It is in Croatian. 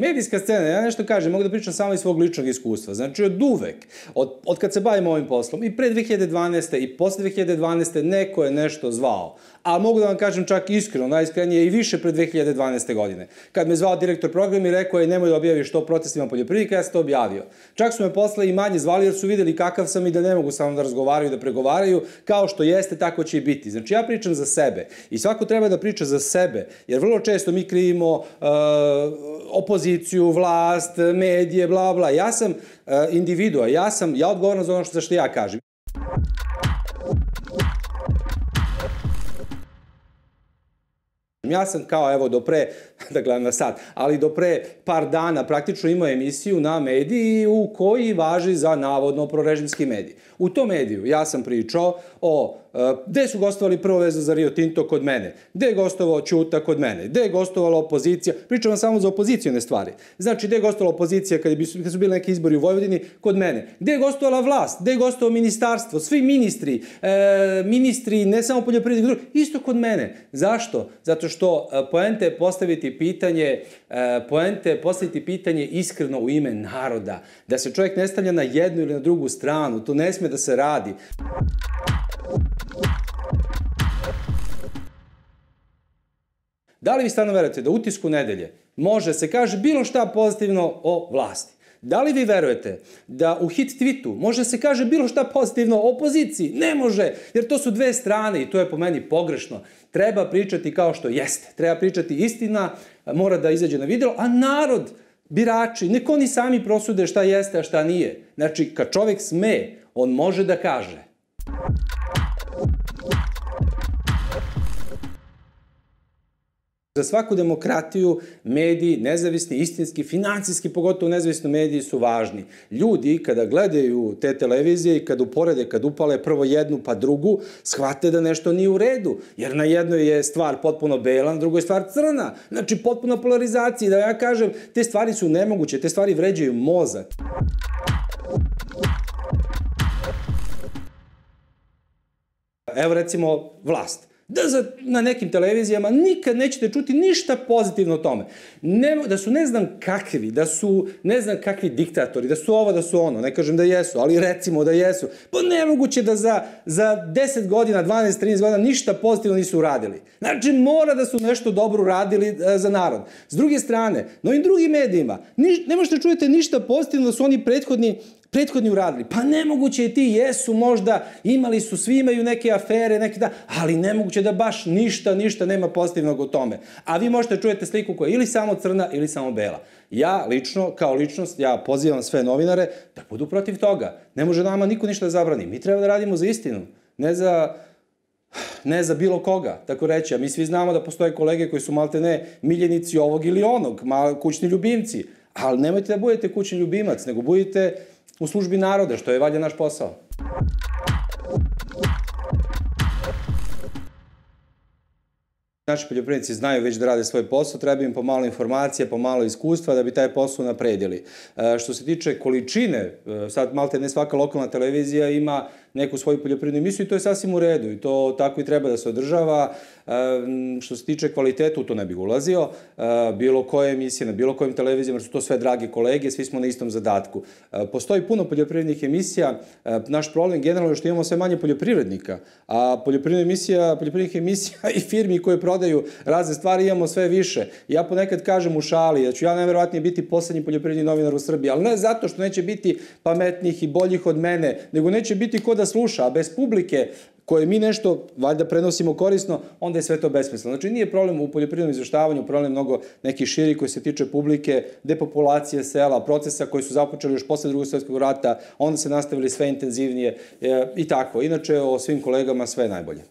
Medijska scena, ja nešto kažem, mogu da pričam samo iz svog ličnog iskustva. Znači, od uvek, od kad se bavim ovim poslom, i pre 2012. i posle 2012. neko je nešto zvao. A mogu da vam kažem čak iskreno, najiskrenije i više pre 2012. godine. Kad me zvao direktor programa i rekao je nemoj da objaviš to o protestima poljoprivrednika, ja sam to objavio. Čak su me posle i manje zvali jer su videli kakav sam i da ne mogu samo da razgovaraju, da pregovaraju, kao što jeste, tako će i biti. Znači, ja pričam za sebe i svako treba da priča za sebe, jer vrlo često mi krivimo opoziciju, vlast, medije, bla, bla. Ja sam individua, ja odgovoran za ono za što ja kažem. Ja sam kao, evo, do pre, da gledam na sat, ali do pre par dana praktično imao emisiju na mediji u koji važi za navodno prorežimski medij. U tom mediju ja sam pričao o gde su gostovali prvo vezu za Rio Tinto kod mene, gde je gostovao Ćuta kod mene, gde je gostovala opozicija, pričam vam samo za opozicijone stvari. Znači, gde je gostovala opozicija kad su bili neki izbori u Vojvodini kod mene, gde je gostovala vlast, gde je gostovao ministarstvo, svi ministri, ne samo poljoprivredni, isto kod mene. Zašto? Zato što poenta je postaviti pitanje iskreno u ime naroda. Da se čovjek ne stavlja na jednu ili na drugu stranu, to ne sme da se radi. Da li vi stvarno verujete da u Utisku nedelje može se kaže bilo šta pozitivno o vlasti? Da li vi verujete da u hit tweetu može se kaže bilo šta pozitivno o opoziciji? Ne može, jer to su dve strane i to je po meni pogrešno. Treba pričati kao što jeste. Treba pričati istina, mora da izađe na videlo, a narod, birači, nek oni sami prosude šta jeste, a šta nije. Znači, kad čovjek sme, on može da kaže. Za svaku demokratiju mediji, nezavisni, istinski, financijski, pogotovo nezavisni mediji su važni. Ljudi kada gledaju te televizije i kad uporede, kad upale prvo jednu pa drugu, shvate da nešto nije u redu. Jer na jednoj je stvar potpuno bela, na drugoj je stvar crna. Znači potpuno polarizacija. Da ja kažem, te stvari su nemoguće, te stvari vređaju mozak. Evo recimo vlast. Na nekim televizijama nikad nećete čuti ništa pozitivno o tome. Da su ne znam kakvi, da su ne znam kakvi diktatori, da su ovo, da su ono, ne kažem da jesu, ali recimo da jesu. Pa nemoguće da za 10 godina, 12, 13 godina ništa pozitivno nisu uradili. Znači mora da su nešto dobro uradili za narod. S druge strane, na ovim drugim medijima, ne možete čujete ništa pozitivno da su oni prethodni uradili. Pa nemoguće i ti jesu možda, imali su, svi imaju neke afere, ali nemoguće da baš ništa nema pozitivnog o tome. A vi možete čujete sliku koja je ili samo crna ili samo bela. Ja lično, kao ličnost, ja pozivam sve novinare da budu protiv toga. Ne može nama niko ništa da zabrani. Mi treba da radimo za istinu, ne za bilo koga, tako reći. A mi svi znamo da postoje kolege koji su maltene miljenici ovog ili onog, kućni ljubimci. Ali nemojte da budete kućni ljubimac, nego budite u službi naroda, što je valjda naš posao. Naši poljoprivrednici znaju već da rade svoj posao, treba im pomalo informacija, pomalo iskustva da bi taj posao napredili. Što se tiče količine, sad malte ne svaka lokalna televizija ima neku svoju poljoprivrednu emisiju i to je sasvim u redu i to tako i treba da se održava. Što se tiče kvaliteta, u to ne bih ulazio. Bilo koje emisije, na bilo kojim televizijama, jer su to sve dragi kolege, svi smo na istom zadatku. Postoji puno poljoprivrednih emisija. Naš problem generalno je što imamo sve manje poljoprivrednika, a poljoprivrednih emisija i firmi koje prodaju razne stvari imamo sve više. Ja ponekad kažem u šali da ću ja najverovatnije biti poslednji poljoprivredni novinar u Srbiji, ali ne zato što neće biti pametnijih i boljih od mene, nego neće biti ko da sluša, a bez publike koje mi nešto, valjda, prenosimo korisno, onda je sve to besmisleno. Znači, nije problem u poljoprivrednom izveštavanju, problem mnogo neki širi koji se tiče publike, depopulacije sela, procesa koji su započeli još posle Drugog svjetskog rata, onda se nastavili sve intenzivnije i tako. Inače, o svim kolegama sve najbolje.